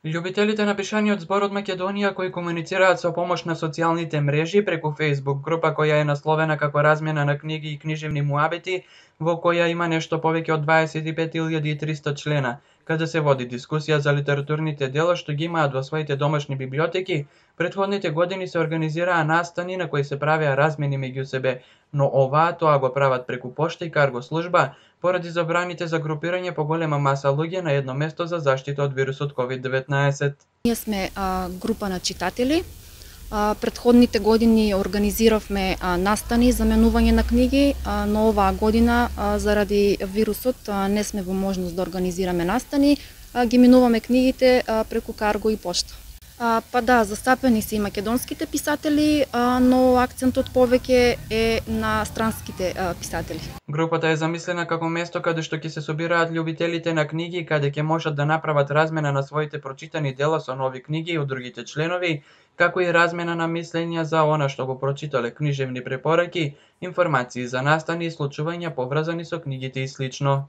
Љубителите на пишаниот збор од Македонија кои комуницираат со помош на социјалните мрежи преку Facebook група која е насловена како размена на книги и книжевни муабети, во која има нешто повеќе од 25.300 члена, каде се води дискусија за литературните дела што ги имаат во своите домашни библиотеки. Претходните години се организираа настани на кои се правеа размени меѓу себе, но оваа тоа го прават преку пошта и карго служба, поради забраните за групирање по голема маса луѓе на едно место за заштита од вирусот COVID-19. Ние сме група на читатели. Претходните години организиравме настани за менување на книги, но оваа година заради вирусот не сме во можност да организираме настани, ги менуваме книгите преку карго и пошта. Па да, застапени се и македонските писатели, но акцентот повеќе е на странските писатели. Групата е замислена како место каде што ќе се собираат љубителите на книги, каде ќе можат да направат размена на своите прочитани дела со нови книги од другите членови, како и размена на мислења за она што го прочитале, книжевни препораки, информации за настани и случувања поврзани со книгите и слично.